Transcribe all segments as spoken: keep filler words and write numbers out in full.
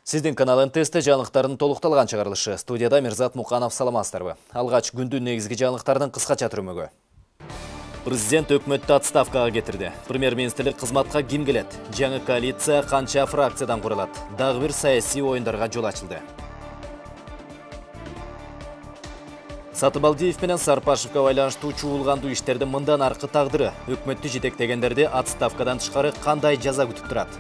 Сиздин канал эн тэ эсте жаңылыктардын толукталган чыгарылышы. Студияда Мирзат Муканов, саламатсыздарбы? Алгач күндүн негизги жаңылыктардын кыскача түрмөгү. Президент өкмөттү отставкага кетирди. Премьер-министрлик кызматка ким келет? Жаңы коалиция канча фракциядан курулат? Дагы бир саясий оюндарга жол ачылды. Сатыбалдиев менен Сарпашевго байланыштуу чуулгандуу иштердин мындан аркы тагдыры, өкмөттү жетектегендерди отставкадан тышкары кандай жаза күтүп турат?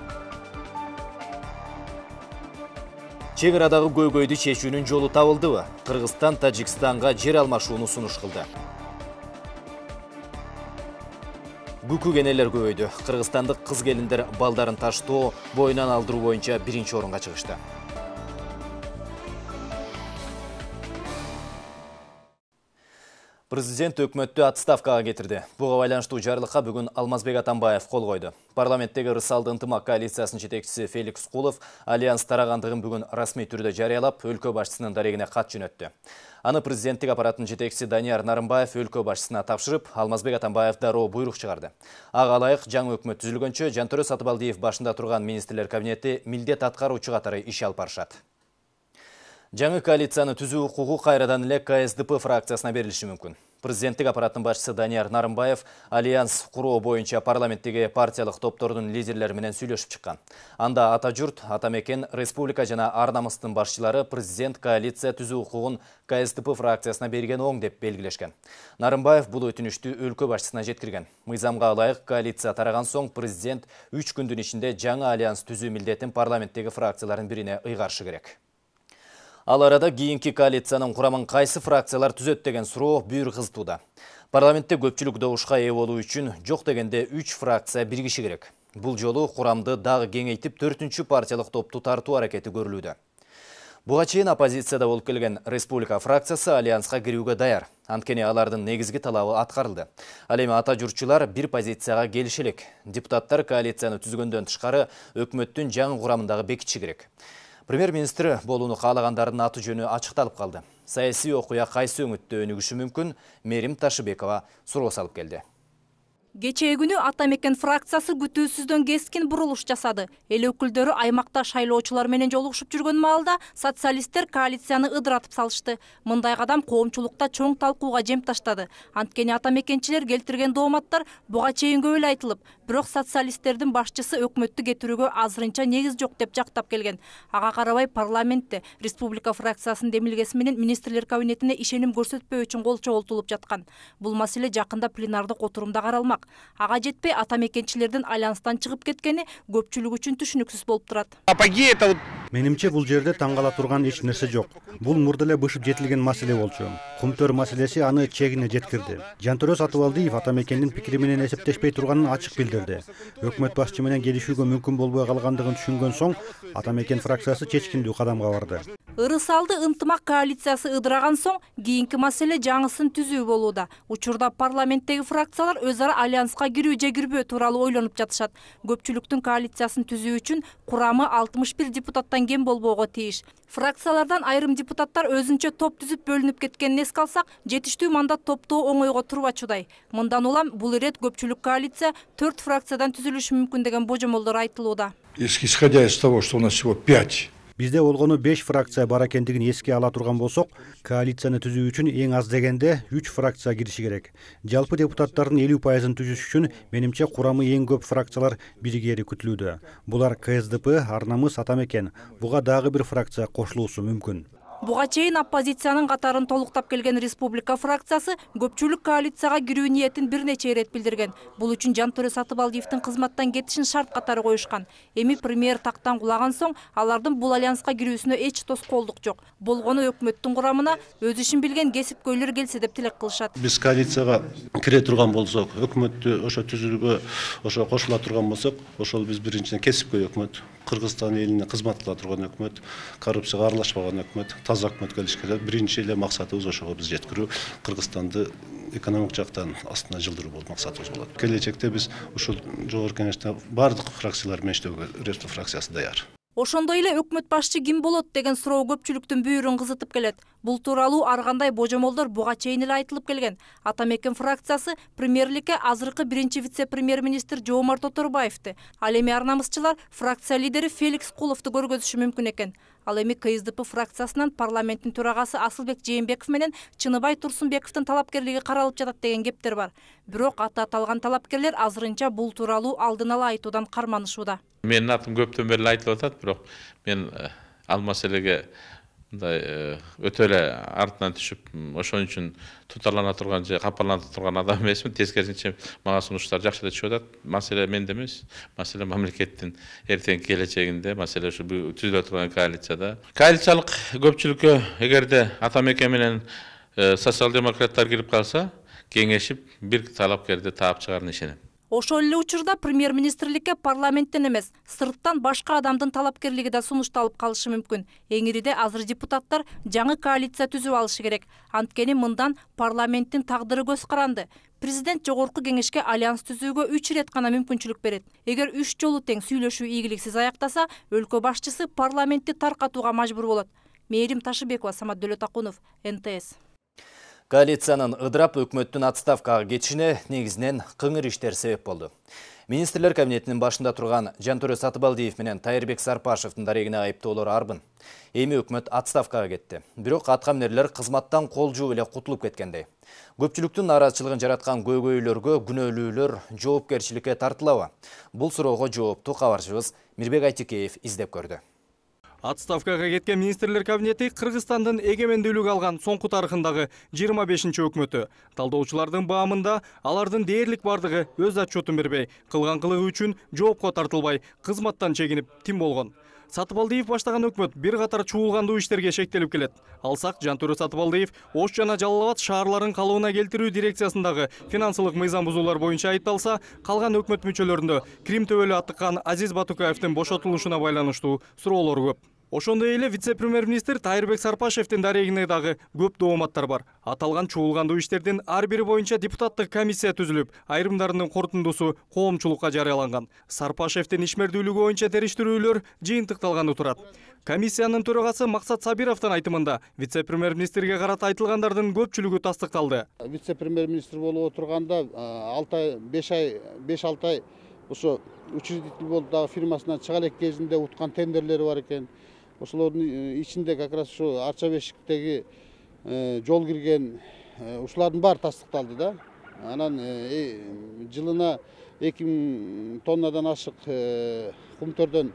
Чек арадагы көйгөйдү чечүүнүн жолу табылдыбы? Кыргызстан Тажикстанга жер алмашууну сунуш кылды. Бүкү кенелер көбөйдү. Кыргызстандык кыз келиндер балдарын таштоо, боюнан алдыруу боюнча биринчи орунга чыгышты. Президент өкмөттү отставкага кетирди. Буга байланыштуу жарлыкка бүгүн Алмазбек Атамбаев кол койду. Парламенттеги ырысалды ынтымак коалициясынын жетекчиси Феликс Кулов альянс тарагандыгын бүгүн расмий түрдө жарыялап, өлкө башчысынын дарегине кат жөнөттү. Аны президенттик аппараттын жетекчиси Данияр Нарымбаев өлкө башчысына тапшырып, Алмазбек Атамбаев дароо буйрук чыгарды. Ага ылайык жаңы өкмөт түзүлгөнчө Жантөрө Сатыбалдиев башында турган министрлер кабинети милдет аткаруучу катары иш алып барышат. Жаңы коалицияны түзүү укугу кайрадан эле ка эс дэ пэ фракциясына берилиши мүмкүн. Президенттик аппараттын башчысы Данияр Нарымбаев альянс куруу боюнча парламенттеги партиялык топтордун лидерлери менен сүйлөшүп чыккан. Анда Ата журт, Ата мекен, Республика жана Ар намыстын башчылары президент коалиция түзүү укугун ка эс дэ пэ фракциясына берген оң деп белгилешкен. Нарымбаев бул өтүнүштү өлкө башчысына жеткирген. Мыйзамга ылайык коалиция тараган соң президент үч күндүн ичинде жаңы альянс түзүү милдетин парламенттеги фракциялардын бирине ыйгарышы керек. Ал арада кийинки коалициянын курамын кайсы фракциялар түзөт деген суроо бүйүр кызытууда. Парламентте көпчүлүк добушка ээ болуу үчүн жок дегенде үч фракция биригиши керек. Бул жолу курамды дагы кеңейтип төртүнчү партиялык топту тартуу аракети көрүлүүдө. Буга чейин оппозицияда болуп келген Республика фракциясы альянска кирүүгө даяр. Анткени алардын негизги талабы аткарылды. Ал эми ата журтчулар бир позицияга келиши элек. Депутаттар коалицияны түзгөндөн тышкары өкмөттүн жаңы курамындагы бекитиши керек. Премьер-министр болууну каалагандардын аты жөнү ачыкталып калды. Саясий окуя кайсы өңүттө өнүгүшү мүмкүн? Мерим Ташыбекова суроо салып келди. Кечээ күнү Ата мекен фракциясы күтүүсүздөн кескин бурулуш жасады. Эл өкүлдөрү аймакта шайлоочулар менен жолугушуп жүргөн маалда социалисттер коалицияны ыдыратып салышты. Мындай кадам коомчулукта чоң талкууга жем таштады. Анткени ата мекенчилер келтирген дооматтар буга чейин көп эле айтылып, бирок социалисттердин башчысы өкмөттү кетирүүгө азырынча негиз жок деп жактап келген. Ага карабай парламентте Республика фракциясынын демилгеси менен министрлер кабинетине ишеним көрсөтпөө үчүн кол чогултулуп жаткан. Бул маселе жакында пленардык отурумда каралмак. Ага жетпей ата мекенчилердин альянстан чыгып кеткени көпчүлүк үчүн түшүнүксүз болуп турат. Менимче бул жерде таң кала турган эч нерсе жок. Бул мурда эле бышып жетилген маселе болчу. Кумтөр маселеси аны чегине жеткирди. Жантөрө Сатыбалдиев ата мекендин пикири менен эсептешпей турганын ачык билдирди. Өкмөт башчы менен келишүүгө мүмкүн болбой калгандыгын түшүнгөн соң ата мекен фракциясы чечкиндүү кадамга барды. Ырысалды ынтымак коалициясы ыдыраган соң кийинки маселе жаңысын түзүү болууда. Учурда парламенттеги фракциялар өз ара альянска кирүү же кирбөө тууралуу ойлонуп жатышат. Көпчүлүктүн коалициясын түзүү үчүн курамы алтымыш бир депутаттан кем болбоого тийиш. Фракциялардан айрым депутаттар өзүнчө топ түзүп бөлүнүп кеткенин эске алсак, жетиштүү мандат топтоо оңойго турбачудай. Мындан улам бул ирет көпчүлүк коалиция төрт фракциядан түзүлүшү мүмкүн деген божомолдор айтылууда. Исходя из того, что у нас всего пять. Бизде болгону беш фракция бар экендигин эске ала турган болсок, коалицияны түзүү үчүн эң аз дегенде үч фракция кириши керек. Жалпы депутаттардын элүү пайызын түзүш үчүн менимче курамы эң көп фракциялар биригери күтүлүүдө. Булар ка эс дэ пэ, Ар намыс, Ата мекен. Буга дагы бир фракция кошулуусу мүмкүн. Буга чейин оппозициянын катарын толуктап келген Республика фракциясы көпчүлүк коалицияга кирүү ниетин бир нече ирет билдирген. Бул үчүн Жантөрө Сатыбалдиевдин кызматтан кетишин шарт катары коюшкан. Эми премьер тактан кулаган соң алардын бул альянска кирүүсүнө эч тоскоолдук жок. Болгону өкмөттүн курамына өз ишин билген кесипкөйлөр келсе деп тилек кылышат. Биз коалицияга кире турган болсок, өкмөттү ошо түзүүгө ошо кошула турган болсок, ошол биз биринчиден кесипкөй өкмөт, Кыргызстан элине кызмат кыла турган өкмөт, коррупцияга аралашпаган өкмөт, таза өкмөт келишке биринчи эле максатыбыз ошого биз жеткирүү, Кыргызстанды экономик жактан астына жылдыруу болуп максатыбыз болот. Келечекте биз ушул жогорку кеңеште бардык фракциялар менен иштөөгө Республика фракциясы даяр. Ошондой эле өкмөт башчы ким болот деген суроо көпчүлүктүн бүйүрүн кызытып келет. Бул тууралуу ар кандай божомолдор буга чейин эле айтылып келген. Атамекен фракциясы премьерликке азыркы биринчи вице-премьер-министр Жоомарт Оторбаевди, ал эми ар намысчылар фракция лидери Феликс Куловду көргөзүшү мүмкүн экен. Ал эми КСДП фракциясынан парламенттин төрагасы Асылбек Жээнбеков менен Чыныбай Турсунбековдун талапкерлиги каралып жатат деген кептер бар. Бирок аты аталган талапкерлер азырынча бул тууралуу алдын ала айтуудан карманышууда. Менин атым көптөн бери айтылып атат, бирок мен ал маселеге мындай өтө эле артынан түшүп, ошон үчүн тутарлана турган же капалана турган адам эмесмин. Тескерисинче мага сунуштар жакшы эле түшүп атат. Маселе менде эмес, маселе мамлекеттин эртеңки келечегинде, маселе ушу түзүлө турган коалицияда. Коалициялык көпчүлүккө эгерде Атамекен менен социал-демократтар кирип калса, кеңешип бир талапкерди таап чыгарына ишенем. Ошол эле учурда премьер-министрликке парламенттен эмес, сырттан башка адамдын талапкерлиги да сунушталып калышы мүмкүн. Эңириде азыр депутаттар жаңы коалиция түзүп алышы керек. Анткени мындан парламенттин тагдыры көз каранды. Президент жогорку кеңешке альянс түзүүгө үч ирет гана мүмкүнчүлүк берет. Эгер үч жолу тең сүйлөшүү ийгиликсиз аяктаса, өлкө башчысы парламентти таркатууга мажбур болот. Мээрим Ташыбекова, Самат Дөөлөтакунов, эн тэ эс. Коалициянын ыдырап өкмөттүн отставкага кетишине негизинен кыңыр иштер себеп болду. Министрлер кабинетинин башында турган Жантөрө Сатыбалдиев менен Тайырбек Сарпашевдин дарегине айыптоолор арбын. Эми өкмөт отставкага кетти. Бирок аткамнерлер кызматтан кол жууп эле кутулуп кеткендей. Көпчүлүктүн нааразычылыгын жараткан көйгөйлөргө күнөөлүүлөр жоопкерчиликке тартылабы? Бул суроого жоопту кабарчыбыз Мирбек Айтикеев издеп көрдү. Отставкага кеткен министрлер кабинети Кыргызстандын эгемендүүлүк алган соңку тарыхындагы жыйырма бешинчи өкмөтү. Талдоочулардын баамында алардын дээрлик бардыгы өз отчетун бербей, кылган кылыгы үчүн жоопко тартылбай, кызматтан чегинип тим болгон. Сатыбалдиев баштаган өкмөт бир катар чуулгандуу иштерге шектелип келет. Алсак, Жантөрө Сатыбалдиев Ош жана Жалал Абад шаарларын калыбына келтирүү дирекциясындагы финансылык мыйзам бузуулар боюнча айыпталса, калган өкмөт мүчөлөрүндө Крим төбөлү аттыккан Азиз Батукаевдин бошотулушуна байланыштуу суроолор көп. Ошондой эле вице-премьер-министр Тайырбек Сарпашевдин дарегине дагы көп дооматтар бар. Аталган чуулгандуу иштердин ар бири боюнча депутаттык комиссия түзүлүп, айрымдарынын корутундусу коомчулукка жарыяланган. Сарпашевдин ишмердүүлүгү боюнча териштирүүлөр жыйынтыкталганы турат. Комиссиянын төрагасы Максат Сабировдун айтымында вице-премьер-министрге карата айтылгандардын көпчүлүгү тастыкталды. Вице-премьер-министр болуп отурганда алты ай, беш ай, беш алты ай ошо учредитель болуп дагы фирмасынан чыга элек кезинде уткан тендерлери бар экен. Ошолордун ичинде как раз ушу Арча бешиктеги жол кирген ушулардын баары тастыкталды да. Анан жылына эки миң тоннадан ашык кумтөрдөн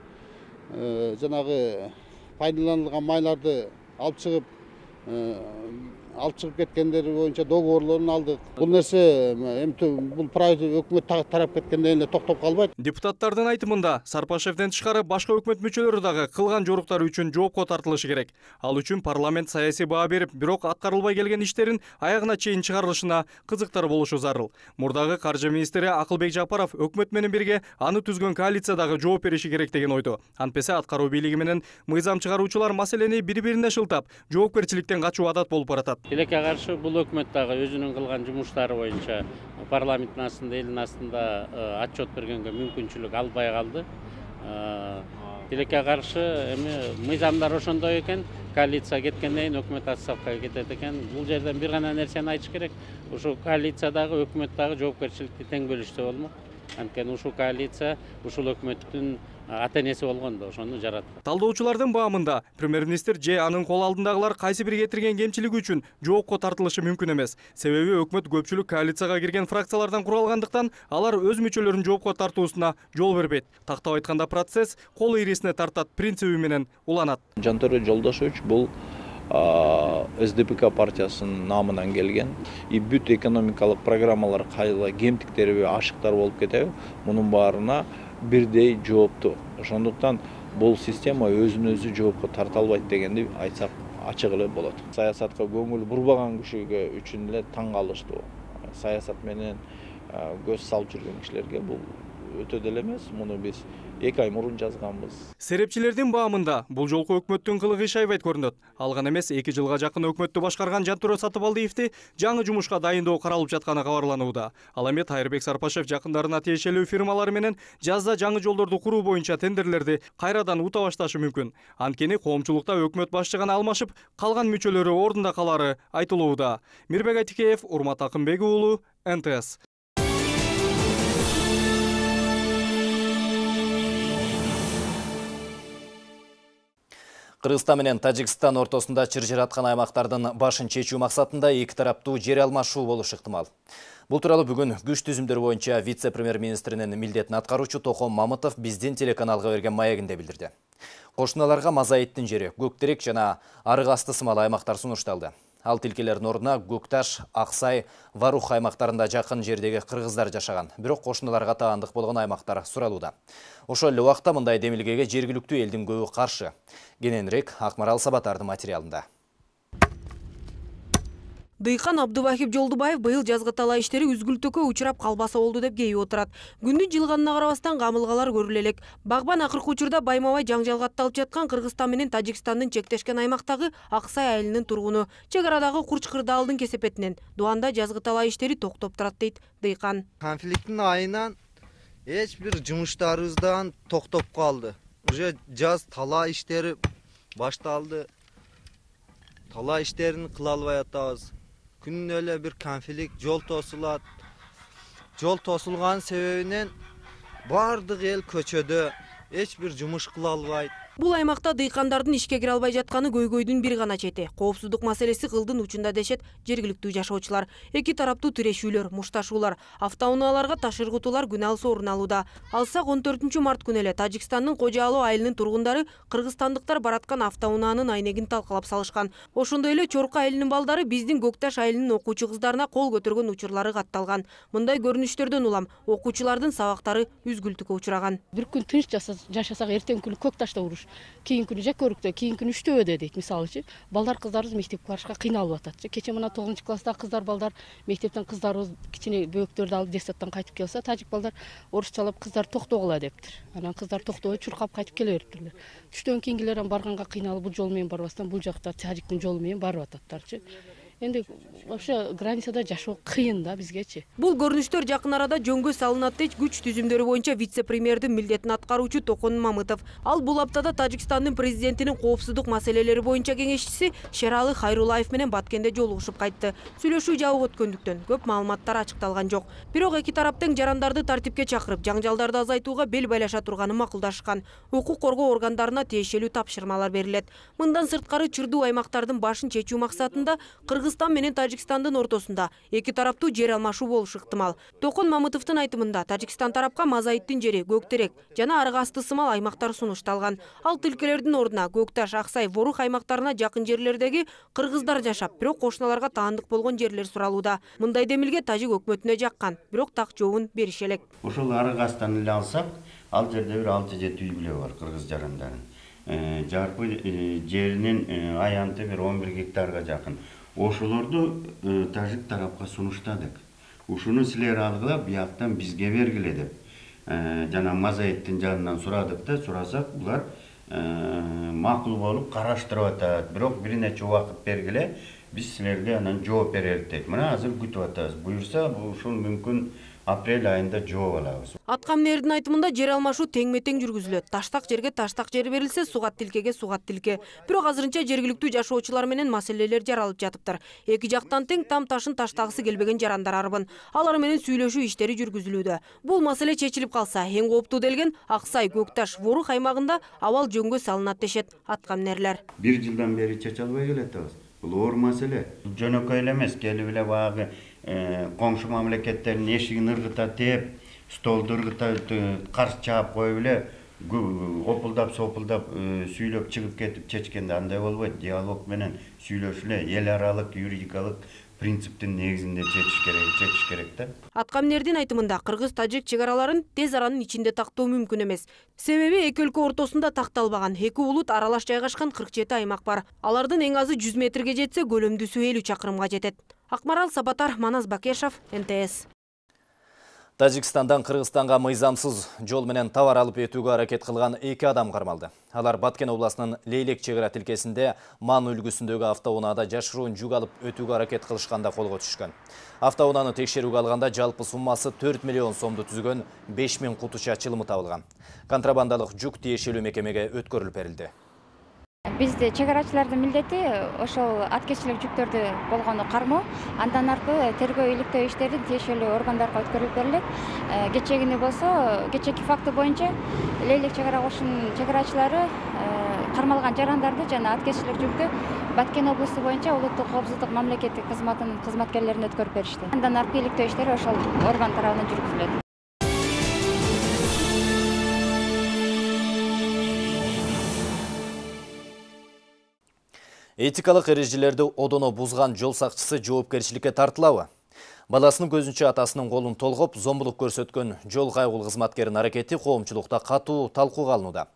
жанагы пайдаланылган майларды алып чыгып алып чыгып кеткендери боюнча договорлорун алдык. Бул нерсе бул правительство өкмөт тарап кеткенден эле токтоп калбайт. Депутаттардын айтымында Сарпашевден тышкары башка өкмөт мүчөлөрү дагы кылган жоруктары үчүн жоопко тартылышы керек. Ал үчүн парламент саясий баа берип, бирок аткарылбай келген иштерин аягына чейин чыгарылышына кызыктар болушу зарыл. Мурдагы каржы министри Акылбек Жапаров өкмөт менен бирге аны түзгөн коалициядагы жооп бериши керек деген ойдо. Антпесе аткаруу бийлиги менен мыйзам чыгаруучулар маселени бири-бирине шылтап, жоопкерчиликтен качуу адат болуп баратат. Тилекке каршы бул өкмөт дагы өзүнүн кылган жумуштары боюнча парламенттин астында, элдин астында отчет бергенге мүмкүнчүлүк албай калды. Тилекке каршы эми мыйзамдар ошондой экен, коалиция кеткенден кийин өкмөт отставкага кетет экен. Бул жерден бир гана нерсени айтыш керек. Ушул коалициядагы өкмөт дагы жоопкерчиликти тең бөлүшсө болмок. Анткени ушул коалиция ушул өкмөттүн ата-энеси болгондо ошону жаратты. Талдоочулардын баамында премьер-министр же анын кол алдындагылар кайсы бир кетирген кемчилиги үчүн жоопко тартылышы мүмкүн эмес. Себеби өкмөт көпчүлүк коалицияга кирген фракциялардан куралгандыктан алар өз мүчөлөрүн жоопко тартуусуна жол бербейт. Тактап айтканда процесс кол ийресине тартат принциби менен уланат. Жантөрө Жолдошевич бул эс дэ пэ ка партиясынын намынан келген. И бүт экономикалык программалар кайла кемтиктерби, ашыктар болуп кетеби, мунун баарына бирдей жоопту. Ошондуктан бул система өзүн өзү жоопко тарта албайт дегенди айтсак ачык эле болот. Саясатка көңүл бурбаган кишиге үчүн эле таң калыштуу. Саясат менен көз салып жүргөн кишилерге бул өтө деле эмес. Муну биз эки ай мурун жазганбыз. Серепчилердин баамында бул жолку өкмөттүн кылыгы иш аябайт көрүнөт. Ал гана эмес, эки жылга жакын өкмөттү башкарган Жантөрө Сатыбалдиевди жаңы жумушка дайындоо каралып жатканы кабарланууда. Ал эми Тайырбек Сарпашев жакындарына тиешелүү фирмалар менен жазда жаңы жолдорду куруу боюнча тендерлерди кайрадан ута башташы мүмкүн. Анткени коомчулукта өкмөт башчы гана алмашып, калган мүчөлөрү ордунда калары айтылууда. Мирбек Айтикеев, Урмат Акынбек уулу, эн тэ эс. Кыргызстан менен Тажикстан ортосунда чыр-чыраткан аймактардын башын чечүү максатында эки тараптуу жер алмашуу болушу ыктымал. Бул тууралуу бүгүн күч түзүмдөр боюнча вице-премьер-министринин милдетин аткаруучу Токон Мамытов биздин телеканалга берген маегинде билдирди. Кошуналарга Мазаиттин жери, Көктерек жана Арык асты сымал аймактар сунушталды. Ал тилкелердин ордуна Көкташ, Аксай, Варух аймактарында жакын жердеги кыргыздар жашаган, бирок кошуналарга таандык болгон аймактар суралууда. Ошол эле убакта мындай демилгеге жергиликтүү элдин көбү каршы. Кененирээк Акмарал Сабатардын материалында. Дыйкан Абдывахип Жолдубаев быйыл жазгы талаа иштери үзгүлтүккө учурап калбаса болду деп кейип отурат. Күндүн жылганына карабастан камылгалар көрүлө элек. Багбан акыркы учурда байма-бай жаңжалга атталып жаткан Кыргызстан менен Тажикстандын чектешкен аймактагы Аксай айылынын тургуну. Чек арадагы Курч-Кырдаалдын кесепетинен Дуанда жазгы талаа иштери токтоп турат дейт Дыйкан. Конфликттин айынан эч бир жумуштарыбыздан токтоп калды. Уже жаз талаа иштери башталды. Талаа иштерин кыла албай атабыз. Күнүнө эле бир конфликт, жол тосулат. Жол тосулган себебинен бардык эл көчөдө, эч бир жумуш кыла албайт. Бул аймакта дыйкандардын ишке кире албай жатканы көйгөйдүн бир гана чети. Коопсуздук маселеси кылдын учунда дешет жергиликтүү жашоочулар. Эки тараптуу тирешүүлөр, мушташуулар, автоунааларга таш ыргытуулар күн алысы орун алууда. Алсак он төртүнчү март күнү эле Тажикстандын Кожа-Алуу айылынын тургундары кыргызстандыктар бараткан автоунаанын айнегин талкалап салышкан. Ошондой эле Чорку айылынын балдары биздин Көкташ айылынын окуучу кыздарына кол көтөргөн учурлары катталган. Мындай көрүнүштөрдөн улам окуучулардын сабактары үзгүлтүккө учураган. Бир күн тынч жашасак, эртең күнү Көкташта уруш. Кийин күнү Жакөрүктө, кийин күнү Үчтөбөдө дейт мисалычы. Балдар кыздарыбыз мектепке барышка кыйналып атат. Кече мына тогузунчу класстагы кыздар балдар мектептен кыздарыбыз кичине бөөктөрдү алып детсадтан кайтып келсе, тажик балдар орусчалап кыздар токтогула дептир. Анан кыздар токтобой чуркап кайтып келе бериптирлер. Түштөн кийингилер барганга кыйналып бул жол менен барбастан бул жакта тажиктин жолу менен барып ататтарчы. Энди вообще границада жашоо кыйын да бизгечи. Бул көрүнүштөр жакын арада жөнгө салынат дейт күч түзүмдөрү боюнча вице-премьердин милдетин аткаруучу Токон Мамытов. Ал бул аптада Тажикстандын президентинин коопсуздук маселелери боюнча кеңешчиси Шералы Хайрулаев менен Баткенде жолугушуп кайтты. Сүйлөшүү жабык өткөндүктөн көп маалыматтар ачыкталган жок. Бирок эки тарап тең жарандарды тартипке чакырып, жаңжалдарды азайтууга бел байлаша турганы макулдашкан. Укук коргоо органдарына тиешелүү тапшырмалар берилет. Мындан сырткары чырдуу аймактардын башын чечүү максатында Кыргызстан менен Тажикстандын ортосунда эки тараптуу жер алмашуу болушу ыктымал. Токон Мамытовдун айтымында Тажикстан тарапка Мазаиттин жери, Көктерек жана Арык асты сымал аймактар сунушталган. Ал тилкелердин ордуна Көкташ, Аксай, Ворух аймактарына жакын жерлердеги кыргыздар жашап, бирок кошуналарга таандык болгон жерлер суралууда. Мындай демилге тажик өкмөтүнө жаккан, бирок так жообун бериши элек. Ошол Арык астан эле алсак, ал жерде бир алты жети үй бүлө бар кыргыз жарандарын. Жарпы жеринин аянты бир он бир гектарга жакын. Ошолорду тажик тарапка сунуштадык. Ушуну силер алгыла бияктан бизге бергиле деп. Жана Мазаиттин жанынан сурадык да, сурасак булар макул болуп караштырып атат. Бирок бир нече убакыт бергиле, биз силерге анан жооп берелик дейт. Мына азыр күтүп атабыз. Буюрса, ушул мүмкүн апрель айында жооп алабыз. Аткамнердин айтымында жер алмашуу теңме-тең жүргүзүлөт. Таштак жерге таштак жер берилсе, сугат тилкеге сугат тилке. Бирок азырынча жергиликтүү жашоочулар менен маселелер жаралып жатыптыр. Эки жактан тең там ташын таштагысы келбеген жарандар арбын. Алар менен сүйлөшүү иштери жүргүзүлүүдө. Бул маселе чечилип калса, эң кооптуу делген Аксай, Көкташ, Ворух аймагында абал жөнгө салынат дешет аткамнерлер. Бир жылдан бери чече албай келатабыз. Бул оор маселе. Жөнөкөй эле эмес, келип эле багы коңшу мамлекеттердин эшигин ыргыта тээп, столду ыргыта карш чаап коюп эле опулдап сопулдап сүйлөп чыгып кетип чечкенде андай болбойт. Диалог менен сүйлөшүлө, эл аралык юридикалык принциптин негизинде чечиш керек, чечиш керек да. Аткамнердин айтымында кыргыз-тажик чек араларын тез аранын ичинде тактоо мүмкүн эмес. Себеби эки өлкө ортосунда такталбаган эки улут аралаш жайгашкан кырк жети аймак бар. Алардын эң азы жүз метрге жетсе, көлөмдүүсү элүү чакырымга жетет. Акмарал Сабатар, Манас Бакешов, эн тэ эс. Тажикстандан Кыргызстанга мыйзамсыз жол менен товар алып өтүүгө аракет кылган эки адам кармалды. Алар Баткен областынын Лейлек чек ара тилкесинде Ман үлгүсүндөгү автоунаада жашыруун жүк алып өтүүгө аракет кылышканда колго түшкөн. Автоунааны текшерүүгө алганда жалпы суммасы төрт миллион сомду түзгөн беш миң кутуча чылымы табылган. Контрабандалык жүк тиешелүү мекемеге өткөрүлүп берилди. Бизде чек арачылардын милдети ошол аткечилик жүктөрдү болгону кармоо, андан аркылуу тергөө иликтөө иштерин тиешелүү органдарга өткөрүлүп берилет. Кечегини болсо, кечеки факты боюнча Лейлек чек ара кошунун чек арачылары кармалган жарандарды жана аткечилик жүктү Баткен облусу боюнча улуттук коопсуздук мамлекеттик кызматынын кызматкерлерине өткөрүп беришти. Андан аркы иликтөө иштери ошол орган тарабынан жүргүзүлөт. Этикалык эрежелерди одоно бузган жол сакчысы жоопкерчиликке тартылабы? Баласынын көзүнчө атасынын колун толгоп, зомбулук көрсөткөн жол кайгыл кызматкеринин аракети коомчулукта катуу талкууга алынууда.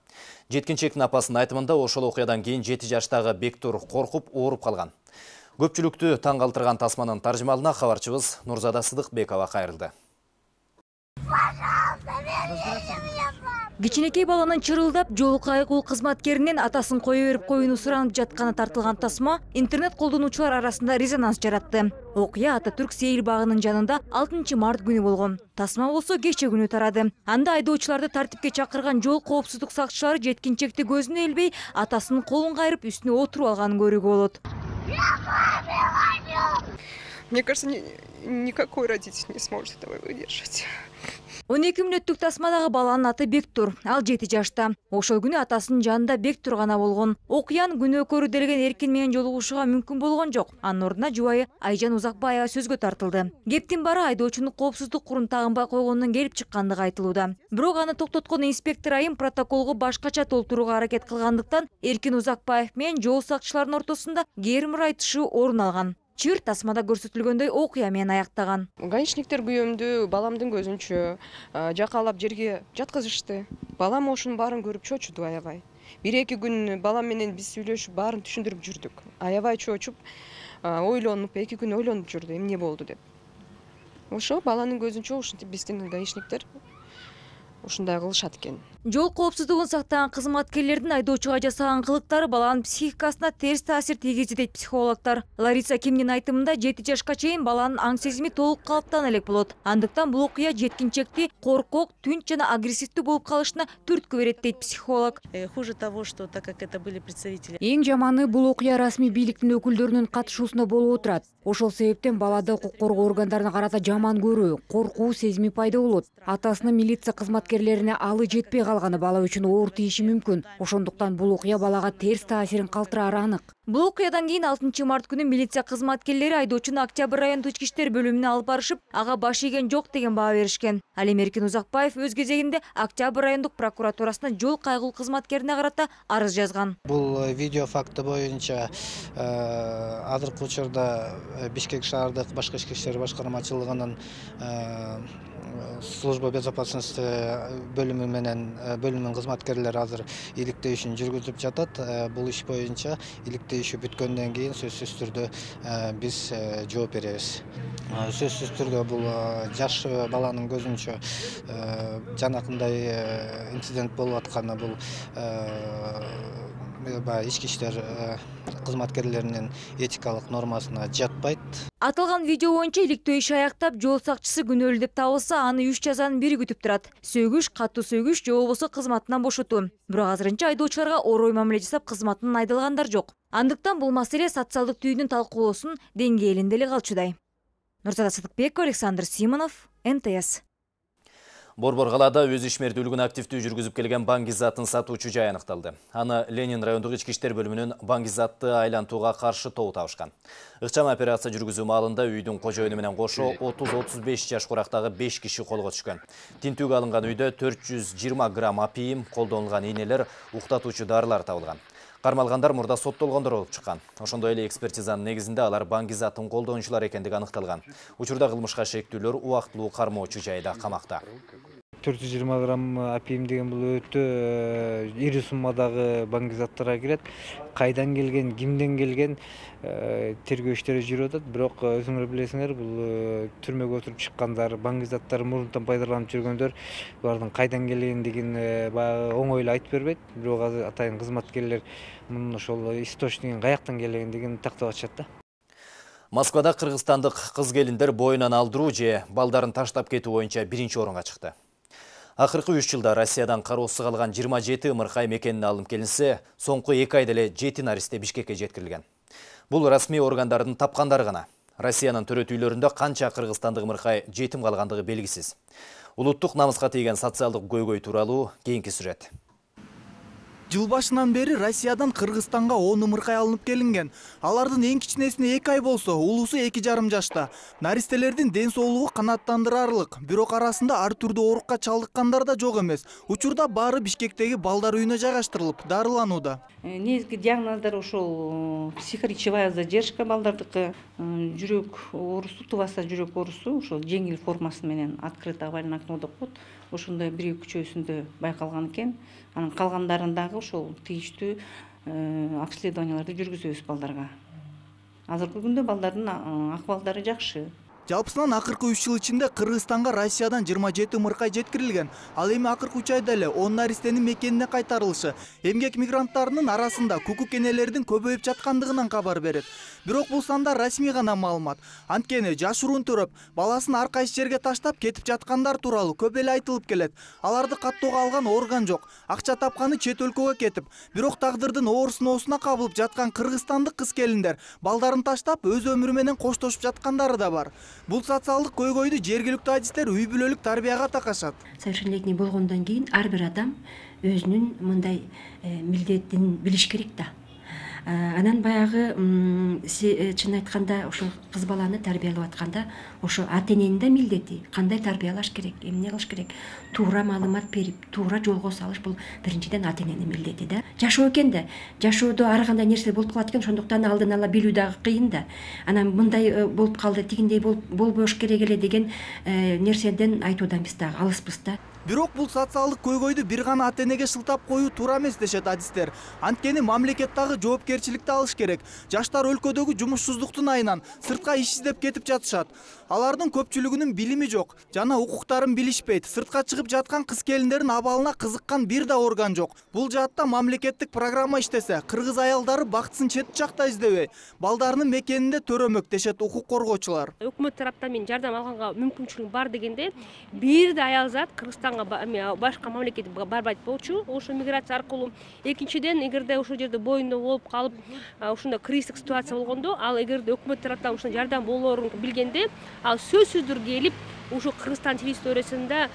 Жеткинчектин апасынын айтымында ошол окуядан кийин жети жаштагы Бектур коркуп, ооруп калган. Көпчүлүктү таң калтырган тасманын таржымалына кабарчыбыз Нурзада Сыдыкбекова кайрылды. Кичинекей баланын чырылдап, жол кайгыл кызматкеринен атасын кое берип коюуну суранып жатканы тартылган тасма интернет колдонуучулар арасында резонанс жаратты. Окуя Ататүрк сейил багынын жанында алтынчы март күнү болгон. Тасма болсо кече күнү тарады. Анда айдоочуларды тартипке чакырган жол коопсуздук сакчылары жеткинчекти көзүнө илбей, атасынын колун кайрып үстүнө отуруп алганын көрүүгө болот. Мне кажется, никакой родитель не сможет этого выдержать. он эки мүнөттүк тасмадагы баланын аты Бектур, ал жети жашта. Ошол күнү атасынын жанында Бектур гана болгон. Окуянын күнөөкөрү делген Эркин менен жолугушууга мүмкүн болгон жок. Анын ордуна жубайы Айжан Узакбаева сөзгө тартылды. Кептин баары айдоочунун коопсуздук курун тагынбай койгондон келип чыккандыгы айтылууда. Бирок аны токтоткон инспектор айым протоколго башкача толтурууга аракет кылгандыктан Эркин Узакбаев менен жол сакчыларынын ортосунда кээрим ырайытышуу орун алган. Чыр тасмада көрсөтүлгөндөй окуя менен аяктаган. Гаишниктер күйөөмдү баламдын көзүнчө жакалап жерге жаткызышты. Балам ошунун баарын көрүп чочуду аябай. Бир эки күн балам менен биз сүйлөшүп, баарын түшүндүрүп жүрдүк. Аябай чочуп, ойлонуп, эки күн ойлонуп жүрдү, эмне болду деп. Ошо баланын көзүнчө ушинтип биздин гаишниктер ушундай кылышат экен. Жол коопсуздугун сактаган кызматкерлердин айдоочуга жасаган кылыктары баланын психикасына терс таасир тийгизди дейт психологдор. Лариса Кимдин айтымында жети жашка чейин баланын аң сезими толук калыптана элек болот. Андыктан бул окуя жеткинчекти коркок, түнч жана агрессивдүү болуп калышына түрткү берет дейт психолог. Хуже того, что так как это были представители. Эң жаманы бул окуя расмий бийликтин өкүлдөрүнүн катышуусунда болуп отурат. Ошол себептен балада укук коргоо органдарына карата жаман көрүү, коркуу сезими пайда болот. Атасынын милиция кызматкерлерине алы жетпей калганы бала үчүн оор тийиши мүмкүн. Ошондуктан бул окуя балага терс таасирин калтырары анык. Бул окуядан кийин алтынчы март күнү милиция кызматкерлери айдоочуну Октябрь райондук ички иштер бөлүмүнө алып барышып, ага баш ийген жок деген баа беришкен. Ал эми Эркин Узакбаев өз кезегинде Октябрь райондук прокуратурасына жол кайгыл кызматкерине карата арыз жазган. Бул видео факты боюнча азыркы учурда Бишкек шаардык башкы ички иштер башкармачылыгынын служба безопасности бөлүмү менен бөлүмүнүн кызматкерлери азыр иликтөө ишин жүргүзүп жатат. Бул иш боюнча иликтөө иши бүткөндөн кийин сөзсүз түрдө биз жооп беребиз. Сөзсүз түрдө бул жаш баланын көзүнчө жанакындай инцидент болуп атканы бул ички иштер кызматкерлеринин этикалык нормасына жатпайт. Аталган видео боюнча иликтөө иши аяктап, жол сакчысы күнөөлүү деп табылса, аны үч жазанын бири күтүп турат. Сөгүш, катуу сөгүш же болбосо кызматынан бошотуу. Бирок азырынча айдоочуларга орой мамиле жасап, кызматынан айдалгандар жок. Андыктан бул маселе социалдык түйүнүн талкуулоосунун деңгээлинде эле калчудай. Нурзада Сыдыкбекова, Александр Симонов, эн тэ эс. Борбор калаада өз ишмердүүлүгүн активдүү жүргүзүп келген баңгизатын сатуучу жай аныкталды. Аны Ленин райондук ички иштер бөлүмүнүн баңгизатты айлантууга каршы тобу табышкан. Ыкчам операция жүргүзүү маалында үйдүн кожоюну менен кошо отуз отуз беш жаш курактагы беш киши колго түшкөн. Тинтүүгө алынган үйдө төрт жүз жыйырма грамм апийим, колдонулган ийнелер, уктатуучу дарылар табылган. Кармалгандар мурда соттолгондор болуп чыккан. Ошондой эле экспертизанын негизинде алар баңгизатын колдонуучулар экендиги аныкталган. Учурда кылмышка шектүүлөр убактылуу кармоочу жайда камакта. төрт жүз жыйырма грамм опиум деген бул өтө ири суммадагы баңгизаттарга кирет. Кайдан келген, кимден келген тергөө иштери жүрүп атат. Бирок өзүңөр билесиңер, бул түрмөгө отуруп чыккандар, баңгизаттары мурунтан пайдаланып жүргөндөр, булардын кайдан келгендигин баягы оңой эле айтып бербейт. Бирок азыр атайын кызматкерлер мунун ошол источнигин каяктан келгендигин тактап атышат да. Москвада кыргызстандык кыз-келиндер боюнан алдыруу же балдарын таштап кетүү боюнча биринчи орунга чыкты. Акыркы үч жылда Россиядан кароосуз калган жыйырма жети ымыркай мекенине алынып келинсе, соңку эки айда эле жети наристе Бишкекке жеткирилген. Бул расмий органдардын тапкандары гана. Россиянын төрөт үйлөрүндө канча кыргызстандык ымыркай жетим калгандыгы белгисиз. Улуттук намыска тийген социалдык көйгөй тууралуу кийинки сюжет. Жыл башынан бери Россиядан Кыргызстанга он ымыркай алынып келинген. Алардын эң кичинесине эки ай болсо, улусу эки жарым жашта. Наристелердин ден соолугу канааттандырарлык, бирок арасында ар түрдүү оорукка чалдыккандар да жок эмес. Учурда баары Бишкектеги балдар үйүнө жайгаштырылып, дарыланууда. Негизги диагноздор ошол психоречевая задержка балдардыкы, жүрөк оорусу, тубаса жүрөк оорусу, ошол жеңил формасы менен открытый овальный окно деп коет. Ошондой бир үчөөсүндө байкалган экен. Анын калгандарындагы ошол тийиштүү обследованияларды жүргүзөбүз балдарга. Азыркы күндө балдардын акыбалдары жакшы. Жалпысынан акыркы үч жыл ичинде Кыргызстанга Россиядан жыйырма жети ымыркай жеткирилген. Ал эми акыркы үч айда эле он наристенин мекенине кайтарылышы эмгек мигранттарынын арасында кукук энелердин көбөйүп жаткандыгынан кабар берет. Бирок бул сандар расмий гана маалымат. Анткени жашыруун төрөп, баласын ар кайсы жерге таштап кетип жаткандар тууралуу көп эле айтылып келет. Аларды каттоого алган орган жок. Акча тапканы чет өлкөгө кетип, бирок тагдырдын оор сыноосуна кабылып жаткан кыргызстандык кыз-келиндер балдарын таштап өз өмүрү менен коштошуп жаткандары да бар. Бул социалдык көйгөйдү жергиликтүү адистер үй бүлөлүк тарбияга такашат. Совершеннолетний болгондон кийин ар бир адам өзүнүн мындай милдетин билиш керек да. Анан баягы чын айтканда ошо кыз баланы тарбиялап атканда ошо ата-эненин да милдети, кандай тарбиялаш керек, эмне кылыш керек, туура маалымат берип, туура жолго салыш бул биринчиден ата-эненин милдети да. Жашоо экен да. Жашоодо ар кандай нерсе болуп калат экен, ошондуктан алдын ала билүү дагы кыйын да. Анан мындай болуп калды, тигиндей болбош керек эле деген нерседен айтуудан биз дагы алыспыз да. Бирок бул социалдык көйгөйдү бир гана ата-энеге шылтап коюу туура эмес дешет адистер. Анткени мамлекет дагы жоопкерчиликти алыш керек. Жаштар өлкөдөгү жумушсуздуктун айынан сыртка иш издеп кетип жатышат. Алардын көпчүлүгүнүн билими жок жана укуктарын билишпейт. Сыртка чыгып жаткан кыз-келиндердин абалына кызыккан бир да орган жок. Бул жаатта мамлекеттик программа иштесе, кыргыз аялдары бактысын чет жакта издебей, балдарынын мекенинде төрөмөк дешет укук коргоочулар. Өкмөт тараптан мен жардам алганга мүмкүнчүлүгүм бар дегенде, бир да аял зат Кыргызстанга башка мамлекетке барбайт болчу, ошо миграция аркылуу. Экинчиден, эгерде ошол жерде боюнда болуп калып, ошондой кризистик ситуация болгондо, ал эгерде өкмөт тараптан ушундай жардам болоорун билгенде, ал сөзсүздүр келип, ушу Кыргызстан территориясында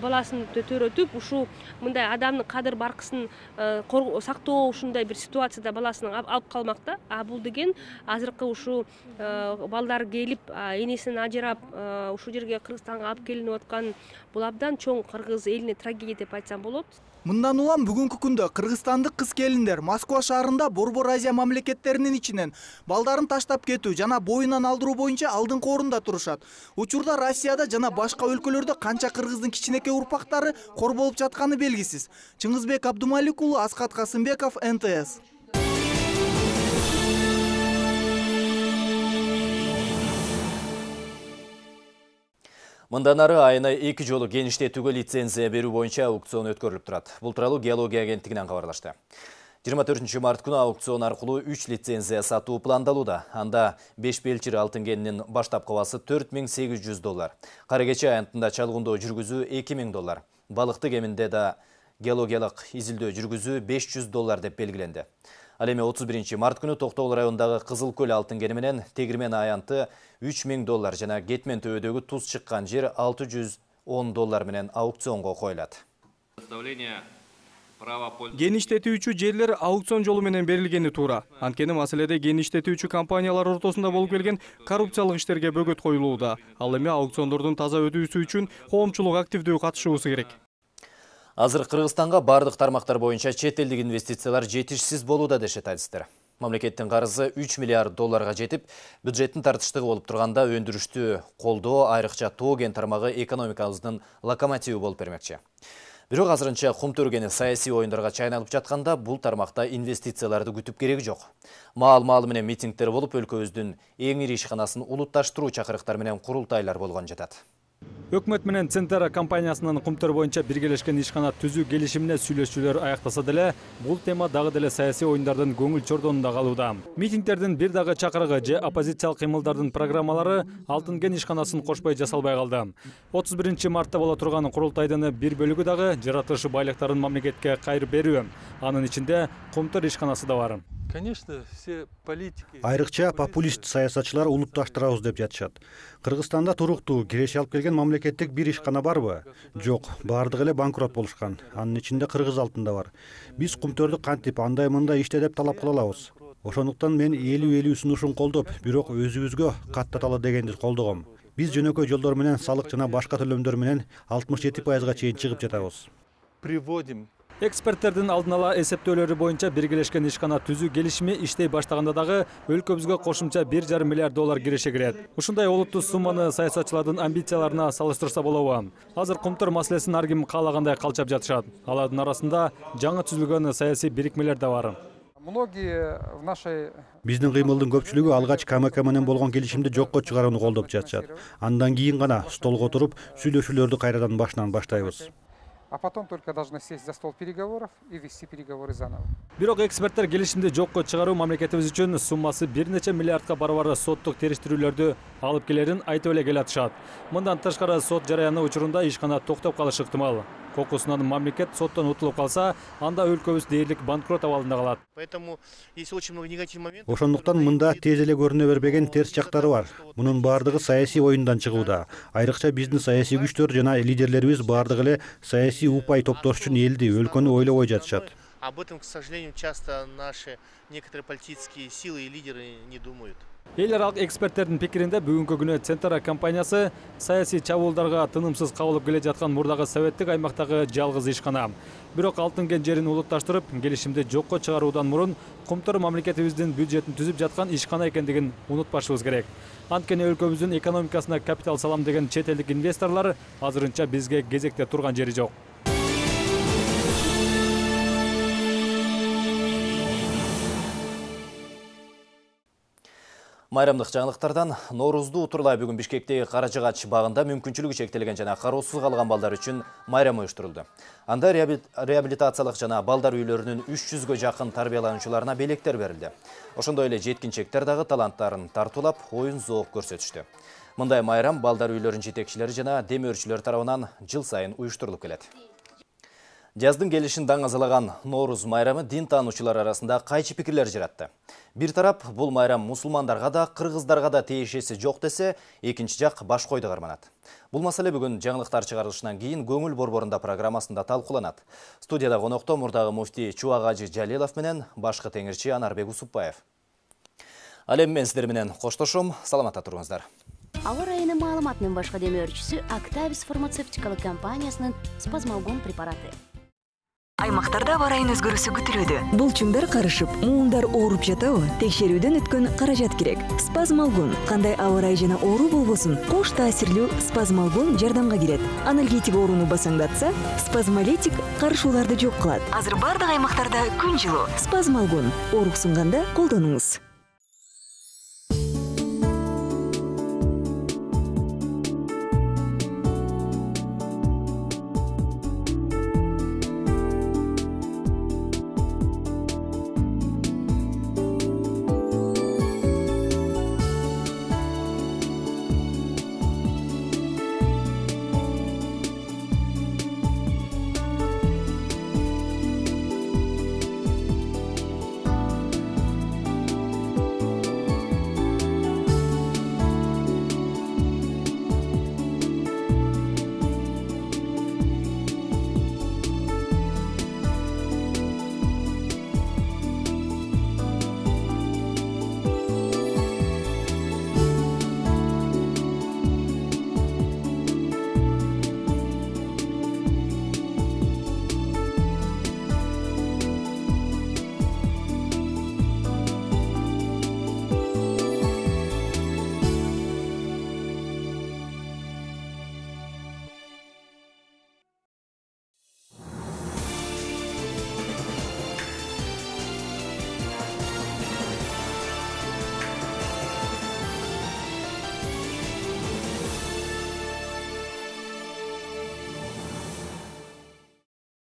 баласын төрөтүп, ушу мындай адамдын кадыр баркысын сактоо ушундай бир ситуацияда баласын алып калмакта. А бул деген азыркы ушу балдар келип, энесинен ажырап, ушул жерге Кыргызстанга алып келинип аткан бул абдан чоң кыргыз элине трагедия деп айтсам болот. Мындан улам бүгүнкү күндө кыргызстандык кыз-келиндер Москва шаарында Борбор Азия мамлекеттеринин ичинен балдарын таштап кетүү жана боюнан алдыруу боюнча алдыңкы орунда турушат. Учурда Россияда жана башка өлкөлөрдө канча кыргыздын кичинекей урпактары кор болуп жатканы белгисиз. Чыңгызбек Абдумалик уулу, Аскат Касымбеков, эн тэ эс. Мындан ары айына эки жолу кеңиштетүүгө лицензия берүү боюнча аукцион өткөрүлүп турат. Бул тууралуу Геология агенттигинен кабарлашты. жыйырма төртүнчү март күнү аукцион аркылуу үч лицензия сатуу пландалууда. Анда беш белчир алтын кенинин баштапкы баасы төрт миң сегиз жүз доллар. Кара кече аянтында чалгындоо жүргүзүү эки миң доллар. Балыкты кеминде да геологиялык изилдөө жүргүзүү беш жүз доллар деп белгиленди. Ал эми отуз биринчи март күнү Токтогул районундагы Кызыл көл алтын кени менен Тегирмен аянты үч миң доллар жана Кетмен төбөдөгү туз чыккан жер алты жүз он доллар менен аукционго коюлат. Кен иштетүүчү жерлер аукцион жолу менен берилгени туура. Анткени маселеде кен иштетүүчү компаниялар ортосунда болуп келген коррупциялык иштерге бөгөт коюлууда. Ал эми аукциондордун таза өтүүсү үчүн коомчулук активдүү катышуусу керек. Азыр Кыргызстанга бардык тармактар боюнча чет элдик инвестициялар жетишсиз болууда дешет адистер. Мамлекеттин карызы үч миллиард долларга жетип, бюджеттин тартыштыгы болуп турганда өндүрүштү колдоо, айрыкча тоо кен тармагы экономикабыздын локомотиви болуп бермекчи. Бирок азырынча кум төргени саясий оюндарга чайналып жатканда бул тармакта инвестицияларды күтүп кереги жок. Маал-маалы менен митингдер болуп, өлкөбүздүн эң ири ишканасын улутташтыруу чакырыктар менен курултайлар болгон жатат. Өкмөт менен Центра компаниясынын кумтөр боюнча биргелешкен ишкана түзүү келишимине сүйлөшүүлөр аяктаса деле, бул тема дагы деле саясий оюндардын көңүл чордонунда калууда. Митингдердин бир дагы чакырыгы же оппозициялык кыймылдардын программалары Алтын кен ишканасын кошпой жасалбай калды. отуз биринчи мартта боло турган курултайдын бир бөлүгү дагы жаратылышы байлыктарын мамлекетке кайрып берүү. Анын ичинде кумтөр ишканасы да бар. Конечно, все политики. Айрыкча популист саясатчылар улутташтырабыз деп жатышат. Кыргызстанда туруктуу киреше алып келген мамлекеттик бир ишкана барбы? Жок, бардыгы эле банкрот болушкан. Анын ичинде Кыргыз алтында бар. Биз кумтөрдү кантип андай мындай иште деп талап кыла алабыз. Ошондуктан мен элүү элүү сунушун колдоп, бирок өзүбүзгө каттаталы дегенди колдогом. Биз жөнөкөй жолдор менен салык жана башка төлөмдөр менен алтымыш жети пайызга чейин чыгып жатабыз. Приводим. Эксперттердин алдын ала эсептөөлөрү боюнча биргелешкен ишкана түзүү келишими иштей баштаганда дагы өлкөбүзгө кошумча бир жарым миллиард доллар киреше кирет. Ушундай олуттуу сумманы саясатчылардын амбицияларына салыштырса болобу? Азыр кумтөр маселесин ар ким каалагандай калчап жатышат. Алардын арасында жаңы түзүлгөн саясий бирикмелер да бар. Многие в нашей Биздин кыймылдын көпчүлүгү алгач КМК менен болгон келишимди жокко чыгарууну колдоп жатышат. Андан кийин гана столго отуруп сүйлөшүүлөрдү кайрадан башынан баштайбыз. А потом только должны сесть за стол переговоров и вести переговоры заново. Бирок эксперттер келишимди жокко чыгаруу мамлекетибиз үчүн суммасы бир нече миллиардка барабар соттук териштирүүлөрдү алып келерин айтып эле келатышат. Мындан тышкары сот жараяны учурунда ишкана токтоп калышы ыктымал. Кокусунан мамлекет соттон утулуп калса, анда өлкөбүз дээрлик банкрот абалында калат. Поэтому есть очень много негативных моментов. Ошондуктан мында тез эле көрүнө бербеген терс жактары бар. Мунун баардыгы саясий оюндан чыгууда. Айрыкча биздин саясий күчтөр жана лидерлерибиз баардыгы эле саясий упай топтош үчүн элди, өлкөнү ойлобой жатышат. Об этом, к сожалению, часто наши некоторые политические силы и лидеры не думают. Эл аралык эксперттердин пикиринде бүгүнкү күнү Центра компаниясы саясий чабуулдарга тынымсыз кабылып келе жаткан мурдагы советтик аймактагы жалгыз ишкана. Бирок алтын кен жерин улутташтырып, келишимди жокко чыгаруудан мурун кумтөр мамлекетибиздин бюджетин түзүп жаткан ишкана экендигин унутпашыбыз керек. Анткени өлкөбүздүн экономикасына капитал салам деген чет элдик инвесторлор азырынча бизге кезекте турган жери жок. Майрамдык жаңылыктардан Ноорузду утурлай бүгүн Бишкектеги Карачыгач багында мүмкүнчүлүгү чектелген жана кароосуз калган балдар үчүн майрам уюштурулду. Анда реабилитациялык жана балдар үйлөрүнүн үч жүзгө жакын тарбиялануучуларына белектер берилди. Ошондой эле жеткинчектер дагы таланттарын тартуулап, оюн зоок көрсөтүштү. Мындай майрам балдар үйлөрүнүн жетекчилери жана демөөрчүлөр тарабынан жыл сайын уюштурулуп келет. Жаздын келишин даңазалаган Норуз майрамы дин таануучулар арасында кайчы пикирлер жаратты. Бир тарап бул майрам мусулмандарга да, кыргыздарга да тиешеси жок десе, экинчи жак баш койду карманат. Бул маселе бүгүн жаңылыктар чыгарылышынан кийин көңүл борборунда программасында талкууланат. Студияда конокто мурдагы муфтий Чубак Жалилов менен башкы теңирчи Анарбек Усупбаев. Ал эми мен сиздер менен коштошом, саламатта туруңуздар. Ауа райынын маалыматынын башкы демөөрчүсү Актавис фармацевтикалык компаниясынын спазмалгон препараты. Аймактарда ауа райынын өзгөрүүсү күтүлүүдө. Булчуңдар карышып, муундар ооруп жатабы? Текшерүүдөн өткөн каражат керек. Спазмалгон кандай ауа рай жана оору болбосун, кош таасирлүү спазмалгон жардамга келет. Анальгетик ооруну басаңдатса, спазмолитик карышууларды жок кылат. Азыр бардык аймактарда күн жылуу. Спазмалгон ооруксунганда колдонуңуз.